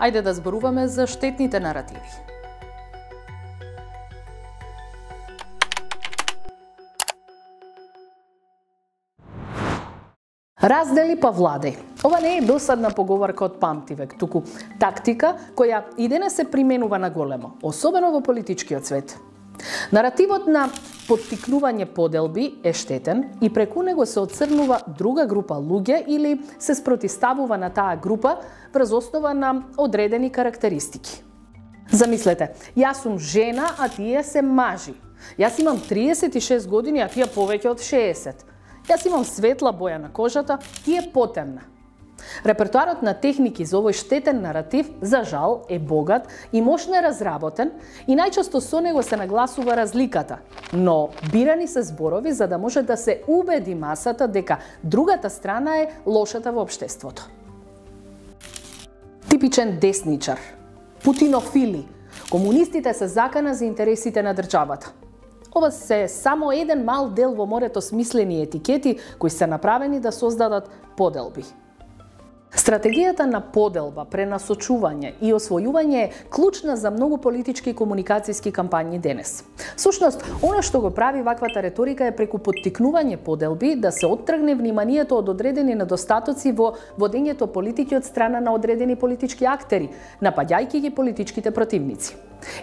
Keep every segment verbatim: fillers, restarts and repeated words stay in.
Ајде да зборуваме за штетните наративи. Раздели па владај. Ова не е досадна поговорка од памтивек, туку тактика која и денес се применува на големо, особено во политичкиот свет. Наративот на поттикнување поделби е штетен и преку него се оцрнува друга група луѓе или се спротивставува на таа група врз основа на одредени карактеристики. Замислете, јас сум жена, а тие се мажи. Јас имам триесет и шест години, а тие повеќе од шеесет. Јас имам светла боја на кожата, тие потемна. Репертоарот на техники за овој штетен наратив, за жал, е богат и мощно е разработен и најчесто со него се нагласува разликата, но бирани се зборови за да може да се убеди масата дека другата страна е лошата во општеството. Типичен десничар, путинофили, комунистите се закана за интересите на државата. Ова се само еден мал дел во морето смислени етикети кои се направени да создадат поделби. Стратегијата на поделба, пренасочување и освојување е клучна за многу политички и комуникацијски кампањи денес. Сушност, она што го прави ваквата реторика е преку поттикнување поделби да се оттргне вниманието од одредени недостатоци во водењето политики од страна на одредени политички актери, напаѓајќи ги политичките противници.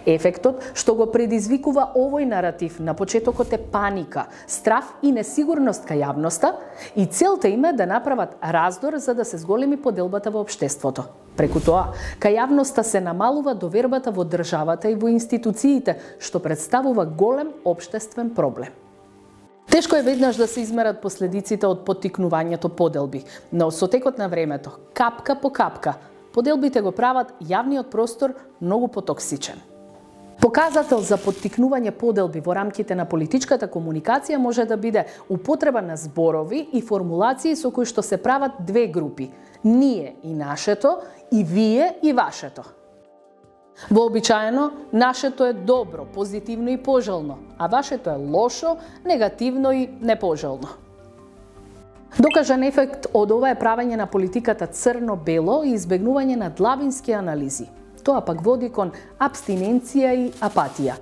Ефектот што го предизвикува овој наратив на почетокот е паника, страф и несигурност кај јавноста и целта им е да направат раздор за да се зголеми поделбата во општеството. Преку тоа, кај јавноста се намалува довербата во државата и во институциите, што представува голем општествен проблем. Тешко е веднаш да се измерат последиците од поттикнувањето поделби, но со текот на времето, капка по капка, поделбите го прават јавниот простор многу потоксичен. Показател за поттикнување поделби во рамките на политичката комуникација може да биде употреба на зборови и формулации со кои што се прават две групи – ние и нашето и вие и вашето. Вообичаено, нашето е добро, позитивно и пожелно, а вашето е лошо, негативно и непожелно. Докажан ефект од ова е правење на политиката црно-бело и избегнување на длабински анализи. Тоа пак води кон абстиненција и апатија.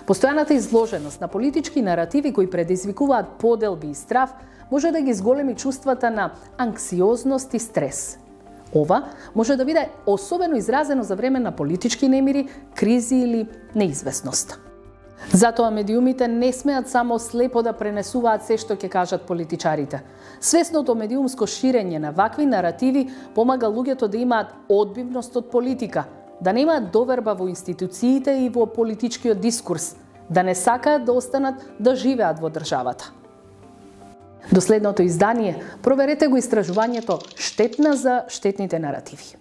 Постојаната изложеност на политички наративи кои предизвикуваат поделби и страф може да ги зголеми чувствата на анксиозност и стрес. Ова може да биде особено изразено за време на политички немири, кризи или неизвестност. Затоа медиумите не смеат само слепо да пренесуваат се што ќе кажат политичарите. Свесното медиумско ширење на вакви наративи помага луѓето да имаат одбивност од политика, да немаат доверба во институциите и во политичкиот дискурс, да не сакаат да останат да живеат во државата. До следното издание проверете го истражувањето "Штетна за штетните наративи".